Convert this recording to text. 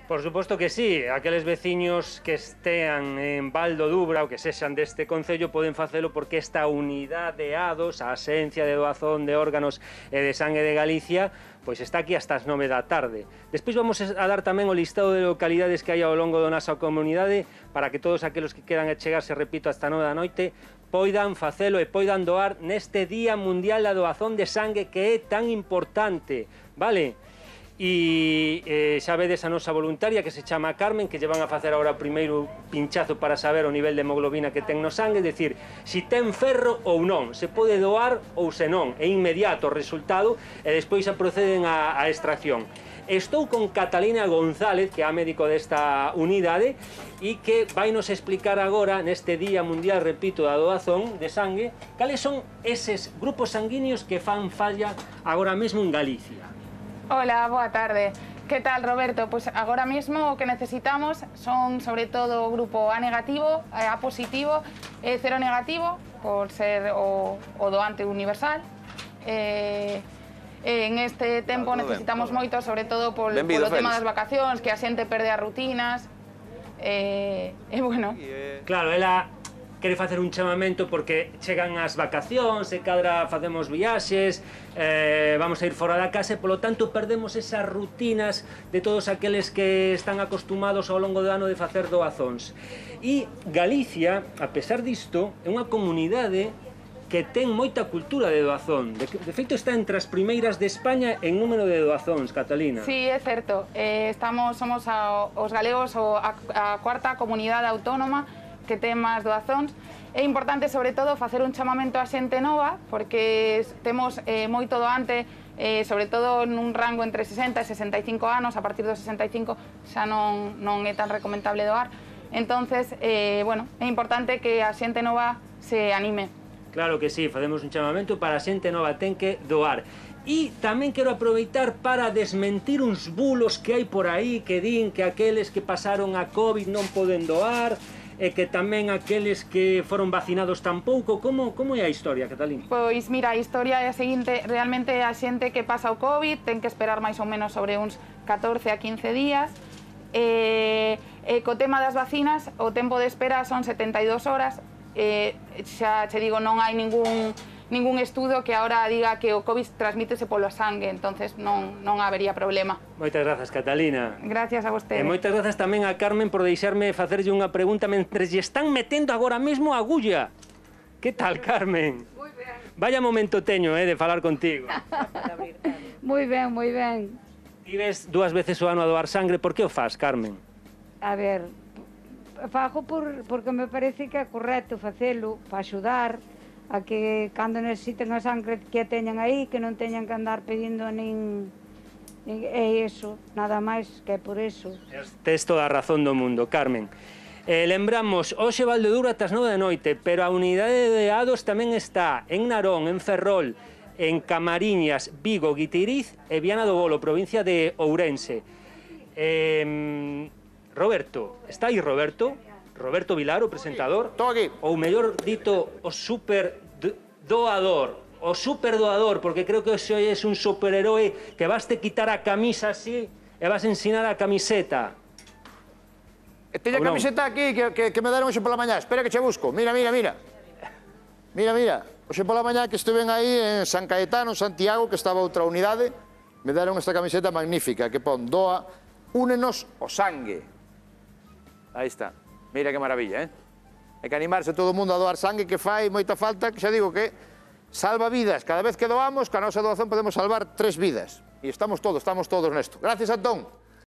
Por suposto que sí, aqueles veciños que estean en Val do Dubra ou que sexan deste concello poden facelo porque esta unidade A2, a Axencia de Doazón de Órganos e de Sangue de Galicia, pois está aquí hasta as 9 da tarde. Despois vamos a dar tamén o listado de localidades que hai ao longo da nosa comunidade para que todos aqueles que queran chegarse, repito, hasta 9 da noite, poidan facelo e poidan doar neste Día Mundial da Doazón de Sangue que é tan importante, vale? E xa vedes a nosa voluntaria que se chama Carmen, que lle van a facer agora o primeiro pinchazo para saber o nivel de hemoglobina que ten no sangue, é dicir, se ten ferro ou non, se pode doar ou se non, é inmediato o resultado e despois a proceden a extracción. Estou con Catalina González, que é a médico desta unidade, e que vai nos explicar agora, neste Día Mundial, repito, da doazón de sangue, cales son eses grupos sanguíneos que fan falla agora mesmo en Galicia. Hola, boa tarde. Que tal, Roberto? Pois agora mesmo o que necesitamos son, sobre todo, o grupo A negativo, A positivo e cero negativo, por ser o doante universal. En este tempo necesitamos moito, sobre todo polo tema das vacacións, que a xente perde as rutinas. Bueno. Claro, ela quere facer un chamamento porque chegan as vacacións e cadra facemos viaxes, vamos a ir fora da casa e, polo tanto, perdemos esas rutinas de todos aqueles que están acostumados ao longo do ano de facer doazóns. E Galicia, a pesar disto, é unha comunidade que ten moita cultura de doazón. De feito, está entre as primeiras de España en número de doazóns, Catalina. Sí, é certo. Somos os galegos a cuarta comunidade autónoma que ten máis doazóns. É importante, sobre todo, facer un chamamento a xente nova, porque temos moito doante, sobre todo nun rango entre 60 e 65 anos, a partir dos 65 xa non é tan recomendable doar. Entonces, bueno, é importante que a xente nova se anime. Claro que sí, facemos un chamamento para a xente nova, ten que doar. E tamén quero aproveitar para desmentir uns bulos que hai por aí que din que aqueles que pasaron a COVID non poden doar, e que tamén aqueles que foron vacinados tampouco. Como é a historia, Catalina? Pois mira, a historia é a seguinte: realmente a xente que pasa o COVID ten que esperar máis ou menos sobre uns 14 a 15 días. Co tema das vacinas, o tempo de espera son 72 horas. Xa che digo, non hai ningún estudo que ahora diga que o COVID transmítese polo sangue, entonces non habería problema. Moitas grazas, Catalina. Gracias a vostede. E moitas grazas tamén a Carmen por deixarme facerlle unha pregunta mentres lle están metendo agora mesmo a agulla. Que tal, Carmen? Moi ben. Vaya momento teño, de falar contigo. Moi ben, moi ben. Ti ves 2 veces o ano a doar sangre, por que o faz, Carmen? A ver, fago porque me parece que é correcto facelo para axudar a que cando necesiten a sangre que a teñan aí, que non teñan que andar pedindo nin... É iso, nada máis que é por iso. Tes toda a razón do mundo, Carmen. Lembramos, hoxe Val do Dubra ás 9 da noite, pero a unidade de A2 tamén está en Narón, en Ferrol, en Camariñas, Vigo, Guitiriz e Viana do Bolo, provincia de Ourense. Roberto, está aí Roberto? Roberto Vilar, o presentador? Estou aquí. Ou mellor dito, o super doador. O super doador, porque creo que hoxe é un superheroe que vaste quitar a camisa así e vas ensinar a camiseta. Teña a camiseta aquí que me deron hoxe pola mañá. Espera que che busco. Mira. Hoxe pola mañá que estuven aí en San Caetano, Santiago, que estaba outra unidade, me deron esta camiseta magnífica que pon doa, únenos o sangue. Aí está. Mira que maravilla, Hai que animarse todo o mundo a doar sangue, que fai moita falta, que xa digo que salva vidas. Cada vez que doamos, ca nosa doazón podemos salvar 3 vidas. E estamos todos nesto. Gracias, Antón.